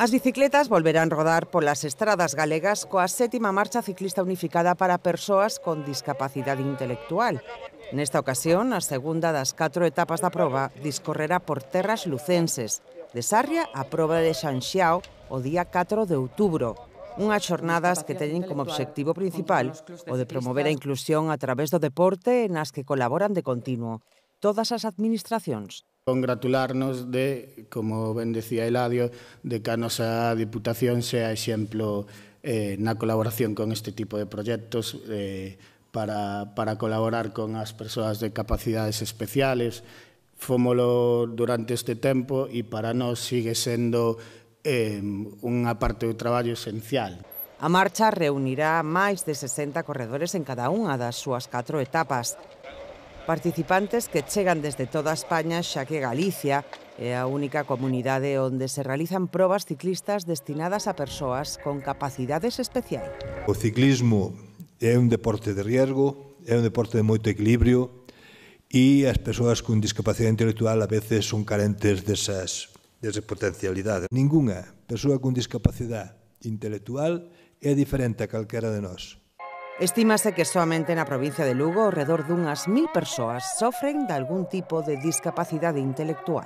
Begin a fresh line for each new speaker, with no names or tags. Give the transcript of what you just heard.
As bicicletas volverán rodar polas estradas galegas coa 7ª marcha ciclista unificada para persoas con discapacidade intelectual. Nesta ocasión, a segunda das 4 etapas da proba discorrerá por terras lucenses, de Sarria á proba de Xanxiao o día 4 de outubro. Unhas xornadas que teñen como obxectivo principal o de promover a inclusión a través do deporte nas que colaboran de continuo todas as administracións.
Congratularnos de, como ben decía Eladio, de que a nosa Diputación sea exemplo na colaboración con este tipo de proxectos para colaborar con as persoas de capacidades especiales. Fómolo durante este tempo e para nós sigue sendo unha parte do traballo esencial.
A marcha reunirá máis de 60 corredores en cada unha das súas 4 etapas. Participantes que chegan desde toda España, xa que Galicia é a única comunidade onde se realizan probas ciclistas destinadas a persoas con capacidades especiais.
O ciclismo é un deporte de riesgo, é un deporte de moito equilibrio e as persoas con discapacidade intelectual a veces son carentes desa potencialidade. Ningunha persoa con discapacidade intelectual é diferente a calquera de nós.
Estímase que soamente na provincia de Lugo ao redor dunhas 1000 persoas sofren de algún tipo de discapacidade intelectual.